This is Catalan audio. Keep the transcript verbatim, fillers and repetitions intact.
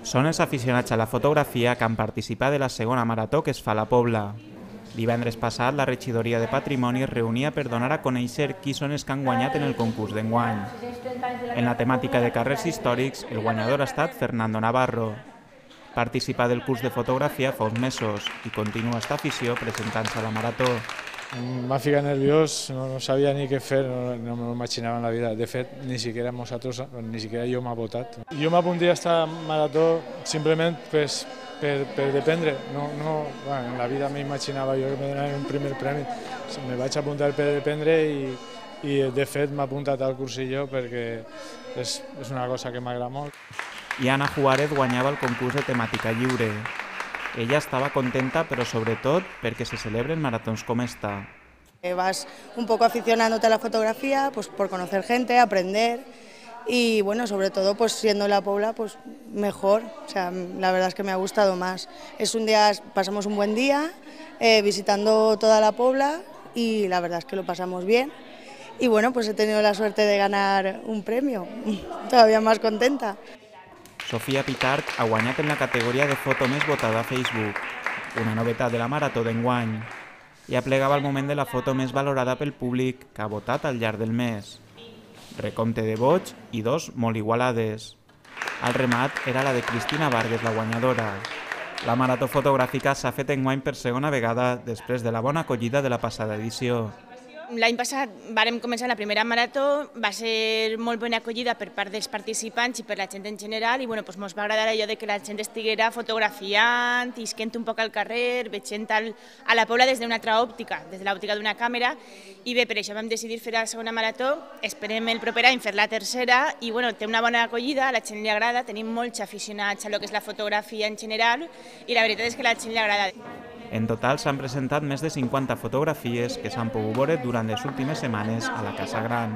Són els aficionats a la fotografia que han participat de la segona marató que es fa a la Pobla. Divendres passat, la regidoria de Patrimoni es reunia per donar a conèixer qui són els que han guanyat en el concurs d'enguany. En la temàtica de carrers històrics, el guanyador ha estat Fernando Navarro. Participa del curs de fotografia fa uns mesos i continua esta afició presentant-se a la marató. M'ha ficat nerviós, no, no sabia ni què fer, no, no m'ho imaginava en la vida. De fet, ni siquiera nosaltres, ni siquiera jo m'ha votat. Jo m'apunté a esta marató simplement pues, per, per dependre. No, no, bueno, en la vida m'imaginava jo que me donaven un primer premi. Me vaig apuntar per dependre i, i de fet m'ha apuntat al cursillo perquè és, és una cosa que m'agrada molt. I Ana Juárez guanyava el concurs de temàtica lliure. Ella estaba contenta, pero sobre todo porque se celebren maratons como esta. Vas un poco aficionándote a la fotografía, pues por conocer gente, aprender y bueno, sobre todo pues siendo en la Pobla pues mejor, o sea, la verdad es que me ha gustado más. Es un día, pasamos un buen día eh, visitando toda la Pobla y la verdad es que lo pasamos bien y bueno, pues he tenido la suerte de ganar un premio, todavía más contenta. Sofia Pitarch ha guanyat en la categoria de foto més votada a Facebook, una novetat de la marató d'enguany, i aplegava el moment de la foto més valorada pel públic que ha votat al llarg del mes. Recompte de vots i dos molt igualades. Al remat era la de Cristina Vargas, la guanyadora. La marató fotogràfica s'ha fet enguany per segona vegada després de la bona acollida de la passada edició. L'any passat vàrem començar la primera marató, va ser molt bona acollida per part dels participants i per la gent en general i bueno, doncs ens va agradar allò de que la gent estiguera fotografiant, isquent un poc al carrer, veient al, a la Pobla des d'una altra òptica, des de l'òptica d'una càmera i bé, per això vam decidir fer la segona marató, esperem el proper any fer la tercera i bueno, té una bona acollida, a la gent li agrada, tenim molts aficionats a lo que és la fotografia en general i la veritat és que a la gent li agrada. En total s'han presentat més de cinquanta fotografies que s'han pogut veure durant les últimes setmanes a la Casa Gran.